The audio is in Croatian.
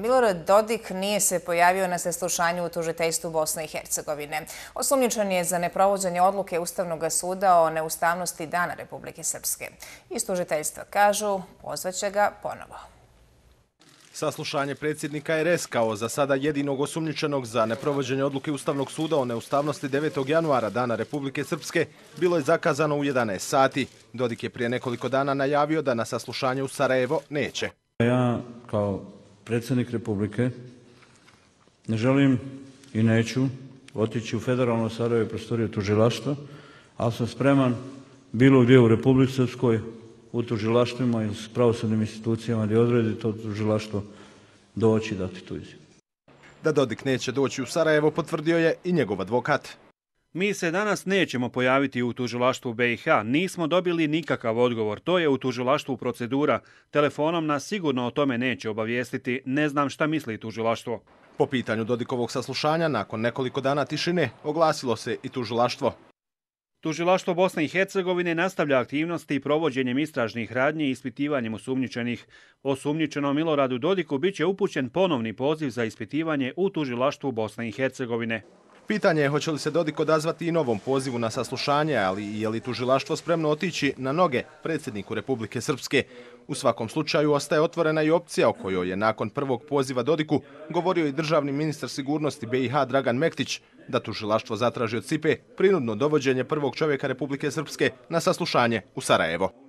Milorad Dodik nije se pojavio na saslušanju u tužiteljstvu Bosne i Hercegovine. Osumnjičen je za neprovođenje odluke Ustavnog suda o neustavnosti Dana Republike Srpske. Iz tužiteljstva kažu, pozvaće ga ponovo. Saslušanje predsjednika RS kao za sada jedinog osumnjičenog za neprovođenje odluke Ustavnog suda o neustavnosti 9. januara Dana Republike Srpske bilo je zakazano u 11 sati. Dodik je prije nekoliko dana najavio da na saslušanje u Sarajevo neće. Ja kao predsjednik Republike ne želim i neću otići u federalno Sarajevo i prostoriju tužilaštva, ali sam spreman bilo gdje u Republici Srpskoj, u tužilaštvima i s pravosudnim institucijama gdje odredi to tužilaštvo doći dati tu izjavu. Da Dodik neće doći u Sarajevo potvrdio je i njegov advokat. Mi se danas nećemo pojaviti u tužilaštvu BiH, nismo dobili nikakav odgovor, to je u tužilaštvu procedura. Telefonom nas sigurno o tome neće obavijestiti, ne znam šta misli tužilaštvo. Po pitanju Dodikovog saslušanja, nakon nekoliko dana tišine, oglasilo se i tužilaštvo. Tužilaštvo Bosne i Hercegovine nastavlja aktivnosti provođenjem istražnih radnji i ispitivanjem osumnjičenih. Osumnjičenom Miloradu Dodiku biće upućen ponovni poziv za ispitivanje u tužilaštvu Bosne i Hercegovine. Pitanje je hoće li se Dodik odazvati i novom pozivu na saslušanje, ali i je li tužilaštvo spremno otići na noge predsjedniku Republike Srpske. U svakom slučaju ostaje otvorena i opcija o kojoj je nakon prvog poziva Dodiku govorio i državni ministar sigurnosti BiH Dragan Mektić, da tužilaštvo zatraži od SIPE prinudno dovođenje prvog čovjeka Republike Srpske na saslušanje u Sarajevo.